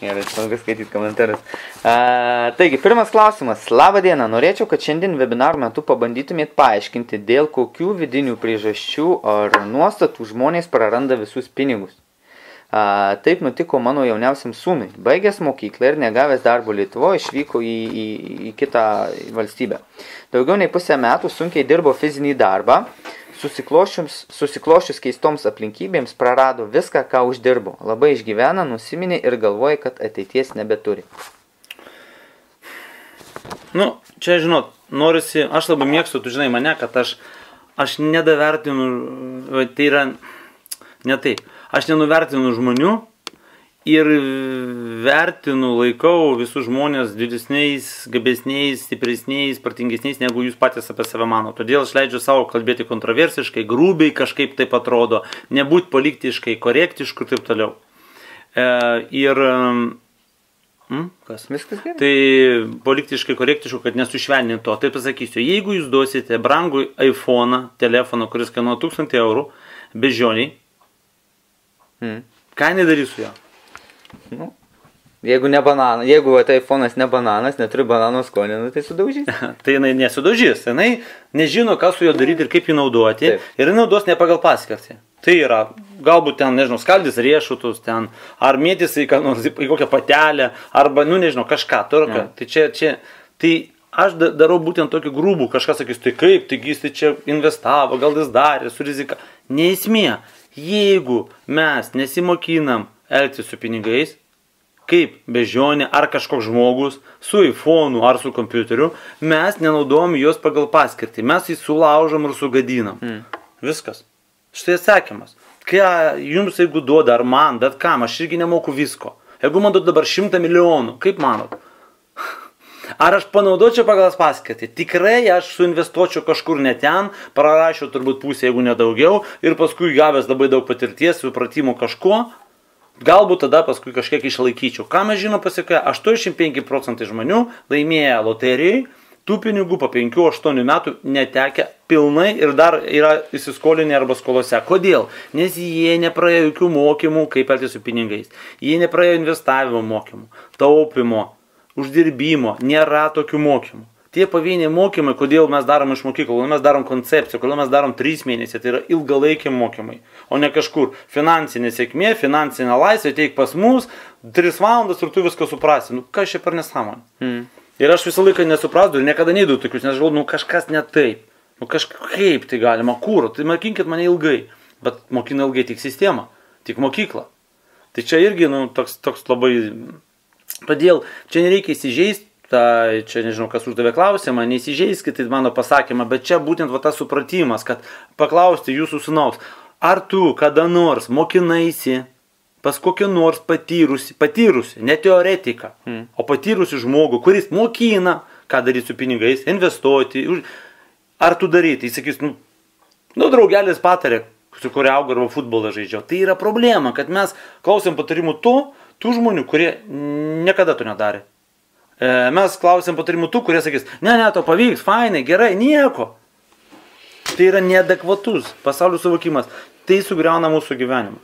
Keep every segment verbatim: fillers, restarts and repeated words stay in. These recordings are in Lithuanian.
Gerai, smagu skaityti komentarus. A, taigi, pirmas klausimas. Labą dieną. Norėčiau, kad šiandien webinaro metu pabandytumėt paaiškinti, dėl kokių vidinių priežasčių ar nuostatų žmonės praranda visus pinigus. A, taip nutiko mano jauniausiam sūnui. Baigęs mokyklą ir negavęs darbo Lietuvoje išvyko į, į, į kitą valstybę. Daugiau nei pusę metų sunkiai dirbo fizinį darbą. Susiklošius keistoms aplinkybėms prarado viską, ką uždirbo. Labai išgyvena, nusiminė ir galvoja, kad ateities nebeturi. Nu, čia, žinot, norisi, aš labai mėgstu, tu žinai mane, kad aš, aš nedavertinu, tai yra, ne taip, aš nenuvertinu žmonių ir vertinu, laikau visus žmonės didesniais, gabesniais, stipresniais, partingesniais, negu jūs patys apie save mano. Todėl aš leidžiu savo kalbėti kontroversiškai, grubiai kažkaip taip atrodo, nebūt politiškai korektišku ir taip toliau. E, ir... Hmm, kas? Viskas gerai. Tai politiškai korektišku, kad nesušvelninti to. Tai pasakysiu, jeigu jūs duosite brangų iPhone, telefoną, kuris kainuoja tūkstantį eurų, beždžioniai, hmm. ką jinai darys su jo? Nu, jeigu ne bananas, jeigu tai iPhone'as ne bananas, neturi banano skonio, nu, tai sudaužys. Tai jinai nesudaužys, jinai nežino, ką su juo daryti ir kaip jį naudoti. Taip. Ir jinai naudos ne pagal paskirtį. Tai yra, galbūt ten, nežinau, skaldys riešutus ten, ar mėtys į, į kokią patelę, arba, nu, nežinau, kažką, turka. Ja. Tai čia, čia, tai aš darau būtent tokį grūbų, kažkas sakys, tai kaip, taigi jis tai čia investavo, gal jis darė, su rizika. Neesmė, jeigu mes nesimokinam elgtis su pinigais, kaip bežionė ar kažkoks žmogus, su iPhone'u ar su kompiuteriu, mes nenaudojam juos pagal paskirtį. Mes jį sulaužom ir sugadinam. Mm. Viskas. Štai atsakymas. Ką jums jeigu duoda, ar man, bet kam, aš irgi nemoku visko. Jeigu man duoda dabar šimtą milijonų, kaip manot? Ar aš panaudočiau pagal paskirtį? Tikrai aš suinvestuočiau kažkur ne ten, prarašiau turbūt pusę, jeigu nedaugiau, ir paskui gavęs labai daug patirties, supratimo kažko, galbūt tada paskui kažkiek išlaikyčiau. Ką mes žinom pasiekoje? aštuoniasdešimt penki procentai žmonių laimėję loterijai, tų pinigų po penkių aštuonių metų netekę pilnai ir dar yra įsiskolinę arba skolose. Kodėl? Nes jie nepraėjo jokių mokymų, kaip elgtis su pinigais. Jie nepraėjo investavimo mokymų, taupimo, uždirbimo. Nėra tokių mokymų. Tie pavieniai mokymai, kodėl mes darom iš mokyklų, kodėl mes darom koncepciją, kodėl mes darom trys mėnesiai, tai yra ilgalaikiai mokymai, o ne kažkur finansinė sėkmė, finansinė laisvė, teik pas mus, tris valandas ir tu viską suprasi. Nu, kas čia per nesąmonė? Mm. Ir aš visą laiką nesuprasdu ir niekada neįdu tokius, nes žinau, nu kažkas ne taip. Nu kažkaip tai galima, kur, tai mokinkit mane ilgai, bet mokina ilgai tik sistema, tik mokykla. Tai čia irgi, nu, toks, toks labai, todėl čia nereikia įsižeisti. Tai čia nežinau, kas uždavė klausimą, neįsižeiskit mano pasakymą, bet čia būtent va tas supratimas, kad paklausti jūsų sūnaus, ar tu kada nors mokinaisi pas kokį nors patyrusi, patyrusi, ne teoretiką, hmm. o patyrusi žmogų, kuris mokina, ką daryti su pinigais, investuoti, ar tu daryti, jis sakys, nu, nu draugelis patarė, su kuria auga arba futbolą žaidžiau. Tai yra problema, kad mes klausėm patarimų tų, tų žmonių, kurie niekada to nedarė. Mes klausėm patarimų tų, kurie sakys, ne, ne, to pavyks, fainai, gerai, nieko. Tai yra neadekvatus pasaulio suvokimas. Tai sugriauna mūsų gyvenimą.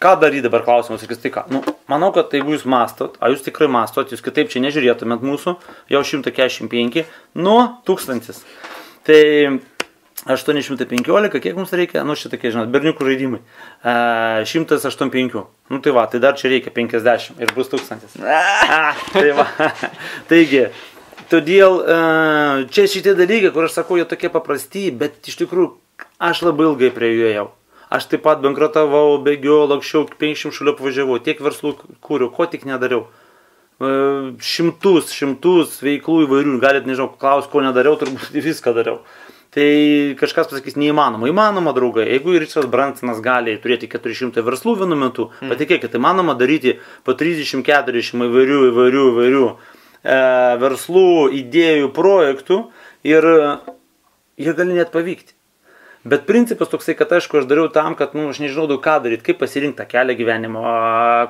Ką daryti dabar klausimas, sakys, tai ką? Nu, manau, kad jeigu jūs mastot, a jūs tikrai mastot, jūs kitaip čia nežiūrėtumėt mūsų, jau šimtas keturiasdešimt penki, nuo tūkstantis. Tai aštuoni šimtai penkiolika, kiek mums reikia? Nu, šitokie, žinot, berniukų žaidimai. E, šimtas aštuoniasdešimt penki. Nu, tai va, tai dar čia reikia penkiasdešimt ir bus tūkstantis. A, tai va. Taigi, todėl čia šitie dalykai, kur aš sakau, jie tokie paprasti, bet iš tikrųjų aš labai ilgai prie jų ėjau. Aš taip pat bankrotavau, bėgiau, lakščiau, penkiasdešimt šalių apvažiavau, tiek verslų kūriau, ko tik nedariau. Šimtus, šimtus veiklų įvairių, galit, nežinau, klaus, ko nedariau, turbūt viską dariau. Tai kažkas pasakys, neįmanoma. Įmanoma, draugai. Jeigu Richardas Bransonas gali turėti keturi šimtai verslų vienu metu, mm. patikėkit, įmanoma daryti po trisdešimt keturiasdešimt įvairių, įvairių, įvairių e, verslų, idėjų, projektų ir jie gali net pavykti. Bet principas toksai, kad aišku, aš dariau tam, kad, nu, aš nežinau daug ką daryti, kaip pasirinkti tą kelią gyvenimo,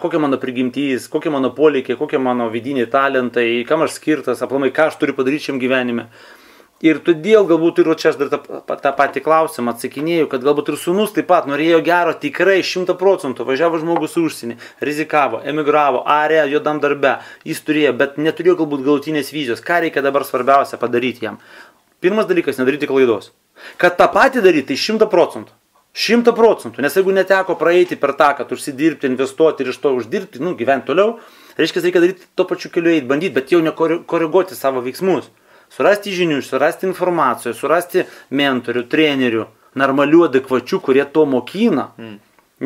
kokia mano prigimtys, kokie mano poreikiai, kokie mano vidiniai talentai, kam aš skirtas, aplamai, ką aš turiu padaryti šiam gyvenime. Ir todėl galbūt ir čia aš dar tą, tą patį klausimą atsakinėjau, kad galbūt ir sūnus taip pat norėjo gero tikrai šimta procentų, važiavo žmogus užsienį, rizikavo, emigravo, arė, juodam darbe, jis turėjo, bet neturėjo galbūt galutinės vizijos. Ką reikia dabar svarbiausia padaryti jam? Pirmas dalykas - nedaryti klaidos. Kad tą patį daryti, tai šimta procentų. Šimta procentų, nes jeigu neteko praeiti per tą, kad užsidirbti, investuoti ir iš to uždirbti, nu, gyventi toliau, reiškia, reikia daryti to pačiu keliu eiti, bandyti, bet jau nekoreguoti savo veiksmus. Surasti žinių, surasti informacijos, surasti mentorių, trenerių, normalių, adekvačių, kurie to mokina. Mm.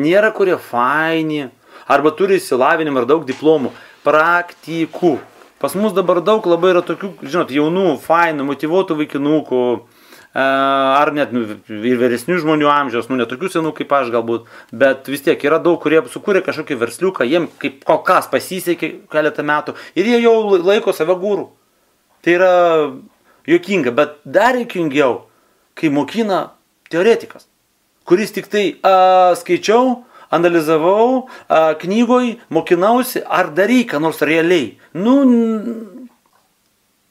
Nėra kurie faini, arba turi įsilavinimą ar daug diplomų. Praktikų. Pas mus dabar daug labai yra tokių, žinot, jaunų, fainų, motyvuotų vaikinukų, ar net nu, ir vyresnių žmonių amžiaus, nu, netokių senų kaip aš galbūt, bet vis tiek yra daug, kurie sukūrė kažkokį versliuką, jiem kaip kol kas pasisekė keletą metų ir jie jau laiko save gūrų. Tai yra juokinga, bet dar juokingiau, kai mokina teoretikas, kuris tik tai a, skaičiau, analizavau, a, knygoj, mokinausi, ar darai ką nors realiai. Nu,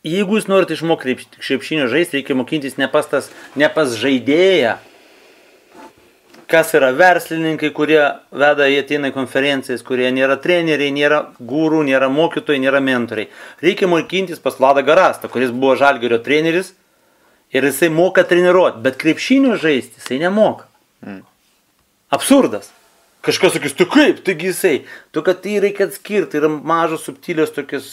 jeigu jūs norite išmokti krepšinio žaisti, reikia mokintis ne pas, tas, ne pas žaidėją, kas yra verslininkai, kurie veda, jie ateina į konferencijas, kurie nėra treneriai, nėra gūrų, nėra mokytojai, nėra mentoriai. Reikia mokintis pas Vladą Garastą, kuris buvo Žalgirio treneris ir jisai moka treniruoti, bet krepšinio žaisti jisai nemoka. Mm. Absurdas. Kažkas sakys, tu kaip, taigi jisai. Tu, kad tai reikia atskirti, yra mažos subtilios tokios,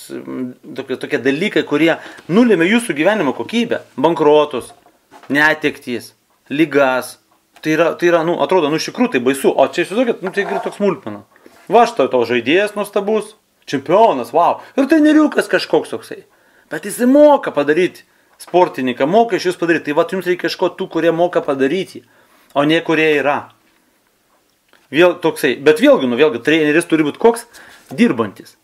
tokie, tokie dalykai, kurie nulėmė jūsų gyvenimo kokybę. Bankrotus, netektys, ligas. Tai yra, tai yra, nu, atrodo, nu, iš tikrųjų tai baisu, o čia įsivaizduokit, nu, tai yra toks smulkmena. Va, štai tavo žaidėjas nuostabus, čempionas, wow, ir treneriukas kažkoks toksai. Bet jis moka padaryti, sportininką, moka iš jūs padaryti, tai va, jums reikia kažko tų, kurie moka padaryti, o ne kurie yra. Vėl toksai, bet vėlgi, nu, vėlgi, treneris turi būti koks dirbantis.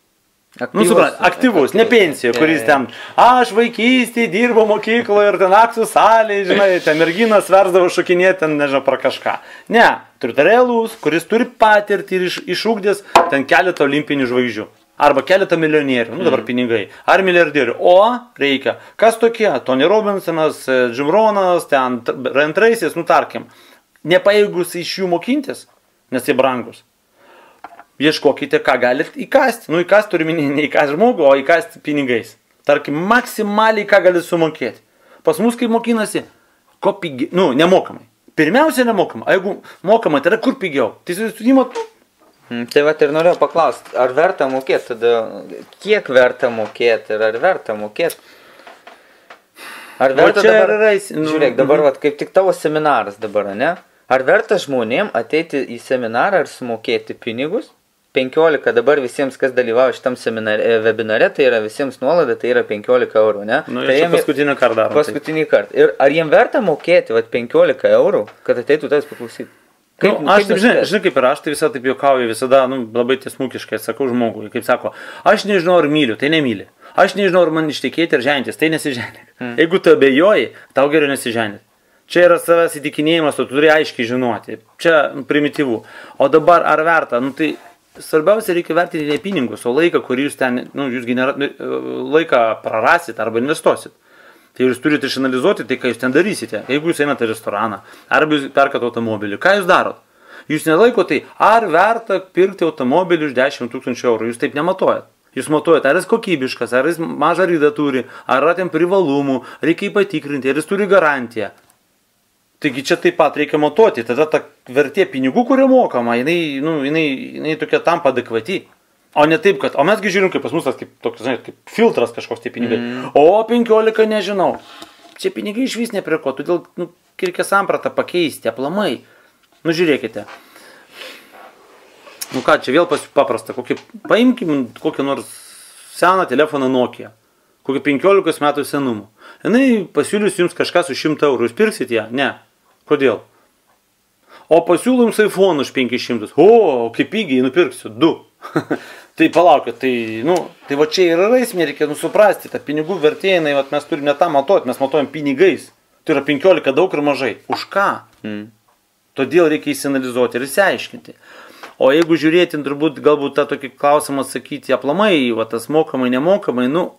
Aktyvus, nu, suprantate, aktyvus, ne pensija, kuris ten, aš vaikystėje dirbo mokykloje ir ten akcijų salėje, žinai, ten merginas versdavo šokinėti, ten, nežinau, pra kažką. Ne, turite realus, kuris turi patirtį ir iš, išūkdės ten keletą olimpinių žvaigždžių. Arba keletą milijonierių, nu dabar pinigai, ar milijardierių. O reikia, kas tokie, Tony Robinsonas, Jim Ronas, ten Ryan Tracy'as, nu tarkim, nepaėgus iš jų mokintis, nes jie brangus. Ieškokite, ką galite įkasti. Nu, įkasti turi minėti ne įkasti žmogų, o įkasti pinigais. Tarkim, maksimaliai, ką galite sumokėti. Pas mus, kai mokinasi, ko pigiau, nu, nemokamai. Pirmiausia, nemokamai. A jeigu mokamai, tai yra kur pigiau. Tai įmot, nu. Hmm, tai vat ir norėjau paklausti, ar verta mokėti tada, kiek verta mokėti ir ar verta mokėti? Ar verta dabar, yra, nu, žiūrėk, dabar mm-hmm. vat, kaip tik tavo seminaras dabar, ne? Ar verta žmonėm ateiti į seminarą ir sumokėti pinigus? penkiolika dabar visiems, kas dalyvauja šitam seminare, webinare, tai yra visiems nuolaida, tai yra penkiolika eurų, ne? Nu, tai jiem paskutinį kartą darom. Paskutinį kartą. Ir ar jiem verta mokėti vat, penkiolika eurų, kad ateitų tavęs paklausyti? Kaip, nu, aš taip, žinai, žinai, kaip ir aš, tai visada taip juokauju, visada, nu, labai tiesmukiškai sakau žmogui, kaip sako, aš nežinau, ar myliu, tai nemyli. Aš nežinau, ar man ištekėti ir žentis, tai nesiženik. Hmm. Jeigu tu abejoji, tau geriau nesiženit. Čia yra savęs įtikinėjimas, tu turi aiškiai žinoti. Čia primityvu. O dabar ar verta? Nu, tai svarbiausia reikia vertinti ne pinigus, o laiką, kurį jūs ten, nu, jūs genera, laiką prarasit arba investuosit. Tai jūs turite išanalizuoti tai, ką jūs ten darysite. Jeigu jūs einate į restoraną, arba jūs perkate automobilį, ką jūs darot? Jūs nelaikote tai, ar verta pirkti automobilį už dešimt tūkstančių eurų, jūs taip nematuojat. Jūs matuojat, ar jis kokybiškas, ar jis mažą rydą turi, ar yra ten privalumų, reikia jį patikrinti, ar jis turi garantiją. Taigi čia taip pat reikia matuoti, tada ta vertė pinigų, kurie mokama, jinai, nu, jinai, jinai tokia tampa adekvati. O ne taip, kad, o mesgi žiūrim, kaip pas mus tas kaip, toks, žinai, kaip filtras kažkoks tie pinigai. Mm. O penkiolika nežinau. Čia pinigai iš vis ne prie ko, todėl nu, reikia sampratą pakeisti, aplamai. Nu žiūrėkite. Nu ką, čia vėl paprasta, kokį, paimkim kokį nors seną telefoną Nokia, kokį penkiolikos metų senumo. Jinai pasiūlys jums kažką su šimtą eurų, jūs pirksit ją? Ne. Kodėl? O pasiūlų jums iPhone už penkis šimtus. O, kaip pigiai, nupirksiu, du. Tai palaukit, tai, nu, tai va čia yra esmė, reikia nusuprasti, ta pinigų vertė, jinai, vat, mes turime tą matuoti, mes matuojam pinigais. Tai yra penkiolika daug ir mažai. Už ką? Mm. Todėl reikia įsianalizuoti ir įsiaiškinti. O jeigu žiūrėti, turbūt galbūt tą tokį klausimą atsakyti aplamai, va tas mokamai, nemokamai, nu,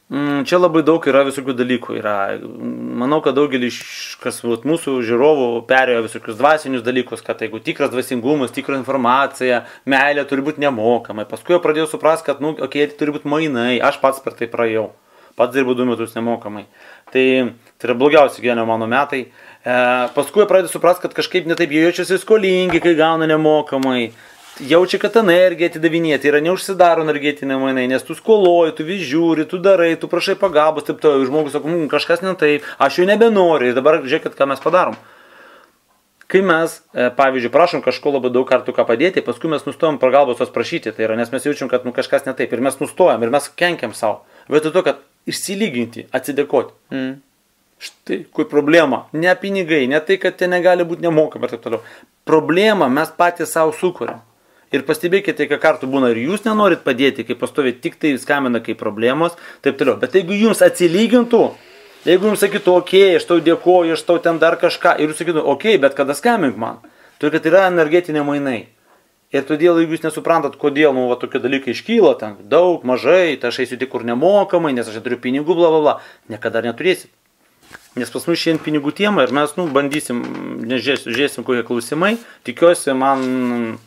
Čia labai daug yra visokių dalykų. Yra. Manau, kad daugelis, kas vat, mūsų žiūrovų perėjo visokius dvasinius dalykus, kad jeigu tikras dvasingumas, tikra informacija, meilė turi būti nemokamai. Paskui jau pradėjau suprasti, kad, nu, okei, okay, turi būti mainai. Aš pats per tai praėjau. Pats dirbu du metus nemokamai. Tai, tai yra blogiausi gyvenimo mano metai. E, paskui pradėjau suprasti, kad kažkaip netaip jie jaučiasi skolingi, kai gauna nemokamai. Jaučia, kad energija atidavinėti yra neužsidaro energetiniai mainai, nes tu skoloji, tu vis žiūri, tu darai, tu prašai pagalbos, taip toliau, žmogus sako, mmm, kažkas ne taip, aš jau nebenoriu ir dabar žiūrėkit, ką mes padarom. Kai mes, pavyzdžiui, prašom kažko labai daug kartų ką padėti, paskui mes nustojam pagalbos tos prašyti, tai yra, nes mes jaučiam, kad nu, kažkas ne taip ir mes nustojam ir mes kenkiam savo, vietoj to, kad išsilyginti, atsidėkoti. Mm. Štai, kur problema, ne pinigai, ne tai, kad tai negali būti nemokama ir taip toliau. Problemą mes patys savo sukuriam. Ir pastebėkite, kiek kartų būna ir jūs nenorit padėti, kai pastovėt tik tai skambina kaip problemos, taip toliau. Bet jeigu jums atsilygintų, jeigu jums sakytų, okei, okay, aš tau dėkoju, aš tau ten dar kažką, ir jūs sakytų, okei, okay, bet kada skambink man, tai kad yra energetiniai mainai. Ir todėl, jeigu jūs nesuprantat, kodėl, nu, va, tokie dalykai iškyla, ten daug, mažai, tai aš eisiu tik kur nemokamai, nes aš neturiu pinigų, bla, bla, bla, niekada neturėsit. Nes pas mus šiandien pinigų tema ir mes, nu, bandysim, nežiūrėsim, žiūrėsim, kokie klausimai, tikiuosi, man...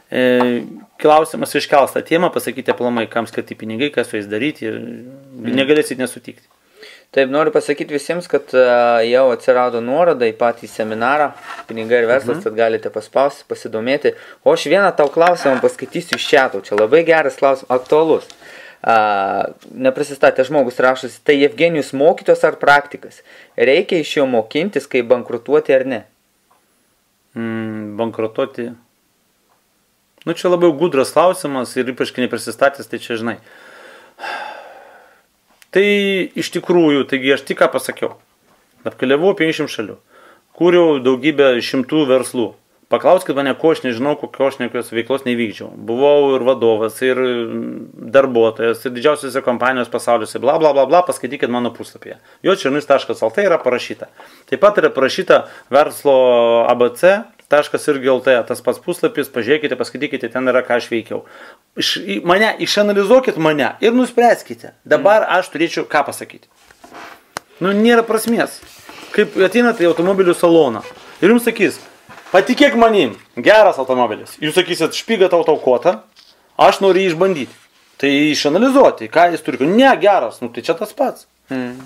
E, klausimas iškels tą temą, pasakyti aplamai, kam skirti pinigai, kas su jais daryti ir mm. negalėsit nesutikti. Taip, noriu pasakyti visiems, kad uh, jau atsirado nuoroda į patį seminarą, pinigai ir verslas, mm. tad galite paspausti, pasidomėti. O aš vieną tau klausimą paskaitysiu iš čiato, čia labai geras klausimas, aktualus. Uh, neprisistatė žmogus rašosi, tai Evgenijus mokytos ar praktikas? Reikia iš jo mokintis, kaip bankrutuoti ar ne? Mm, bankrutuoti... Nu, čia labai gudras klausimas ir ypač, kai neprisistatęs, tai čia žinai. Tai iš tikrųjų, taigi aš tik ką pasakiau. Apkeliavau penkiasdešimt šalių. Kūriau daugybę šimtų verslų. Paklauskit mane, ko aš nežinau, kokio aš nekokios veiklos nevykdžiau. Buvau ir vadovas, ir darbuotojas, ir didžiausiose kompanijos pasauliuose, bla bla bla bla, paskaitykit mano puslapyje. jočernys taškas lt yra parašyta. Taip pat yra parašyta verslo A B C. Taškas irgi L T, tas pats puslapis, pažiūrėkite, paskaitykite, ten yra, ką aš veikiau. Iš, mane, išanalizuokit mane ir nuspręskite. Dabar aš turėčiau ką pasakyti. Nu, nėra prasmės. Kaip ateinate į automobilių saloną ir jums sakys, patikėk manim, geras automobilis. Jūs sakysit, špyga tau taukota, aš noriu jį išbandyti. Tai išanalizuoti, ką jis turi. Ne, geras, nu tai čia tas pats. Hmm.